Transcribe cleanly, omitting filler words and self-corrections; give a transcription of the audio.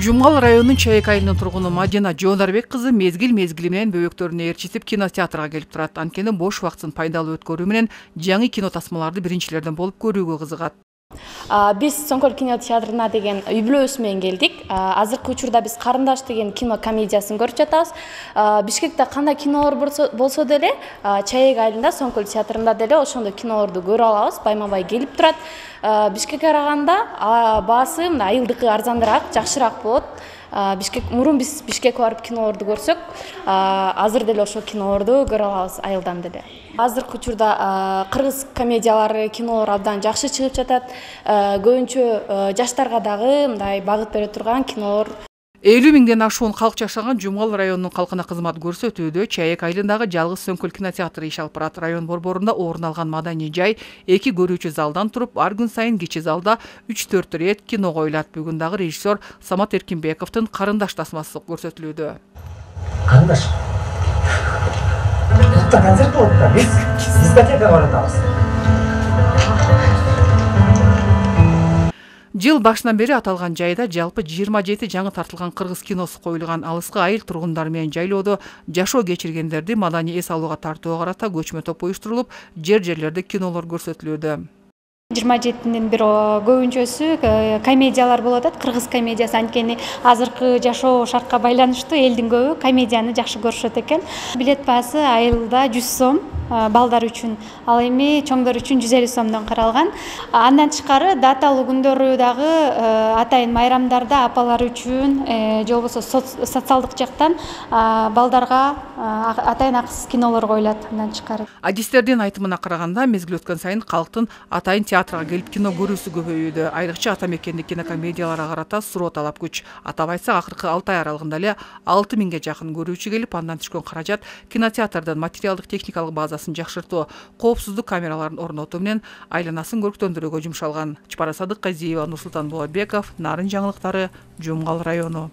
Жумгал районунун Чайек айылынын тургуну Мадина Жондарбек кызы мезгил менен бөбөктөрүнө ээрчитип кинотеатрга келип турат. Анткени бош убактын пайдалуу өткөрүү менен жаңы кино тасмаларды биринчилерден болуп көрүүгө кызыгат. Биз Соңкөл кинотеатрына деген үй бүлөбүз менен келдик. Азыркы учурда биз Карындаш деген кино комедиясын көрүп жатабыз. Бишкекте кандай кинолор болсо деле, Чайек айылында Соңкөл театрында деле ошондой кинолорду көрө алабыз. Байма-бай келип турат. Бишкекке караганда баасы айылдыкы арзандыраак, жакшыраак болот. Мурун биз Бишкекке барып кинолорду көрсөк, азыр деле ошол кинолорду көрө алабыз айылдан деле. Азыркы учурда кыргыз комедиялары, кинолор абдан жакшы чыгып жатат. Көбүнчө жаштарга дагы мындай багыт бере турган кинолор. 50 миңден ашуун калк жашаган Жумгал районунун калкына кызмат көрсөтүүдө Чайек айылындагы жалгыз Соңкөл кинотеатры иш алып барат. Район борборунда орун алган маданий жай 2 көрүүчү залдан туруп, ар күн сайын кичи залда 3-4 рет кино коюлат. Бүгүн дагы режиссер Самат Эркинбековдун Карындаш тасмасы көрсөтүлүүдө. Карындаш. Бутта концерт болот да. Биз дискотекага баратабыз. Жыл башынан бери аталган жайда жалпы 27 жаңы тартылган кыргыз киносу коюлган. Алыскы айыл тургундары менен жайлоодо жашоо кечиргендерди маданий эс алууга тартууга карата көчмө топ уюштурулуп, жерлерде кинолор көрсөтүлүүдө. 27-ден бир көбүнчөсү комедиялар болуп атат. Кыргыз комедиясы, анткени азыркы жашоо шартка байланыштуу элдин көбү комедияны жакшы көрүшөт экен. Билет баасы айылда 100 сом балдар үчүн, ал эми чоңдор үчүн 150 сомдон каралган. Андан тышкары даталуу күндөрү дагы атайын майрамдарда апалар үчүн же болбосо социалдык жактан балдарга атайын акысыз кинолор коюлат. Андан тышкары Адистердин айтымына караганда, мезгил өткөн сайын калктын атайын театрга келип кино көрүүсү көбөйүүдө. Айрыкча ата мекендик кинокомедияларга карата суроо талап күч. Атап айтсак, акыркы 6 ай аралыгында эле 6 миңге жакын көрүүчү келип, андан түшкөн каражат кинотеатрдын материалдык техникалык базасын жакшыртуу, коопсуздук камераларын орнотуу менен айланасын көрктөндүрүүгө жумшалган. Чапара Садыкказиева, Нурсултан Булатбеков, Нарын жаңылыктары, Жумгал району.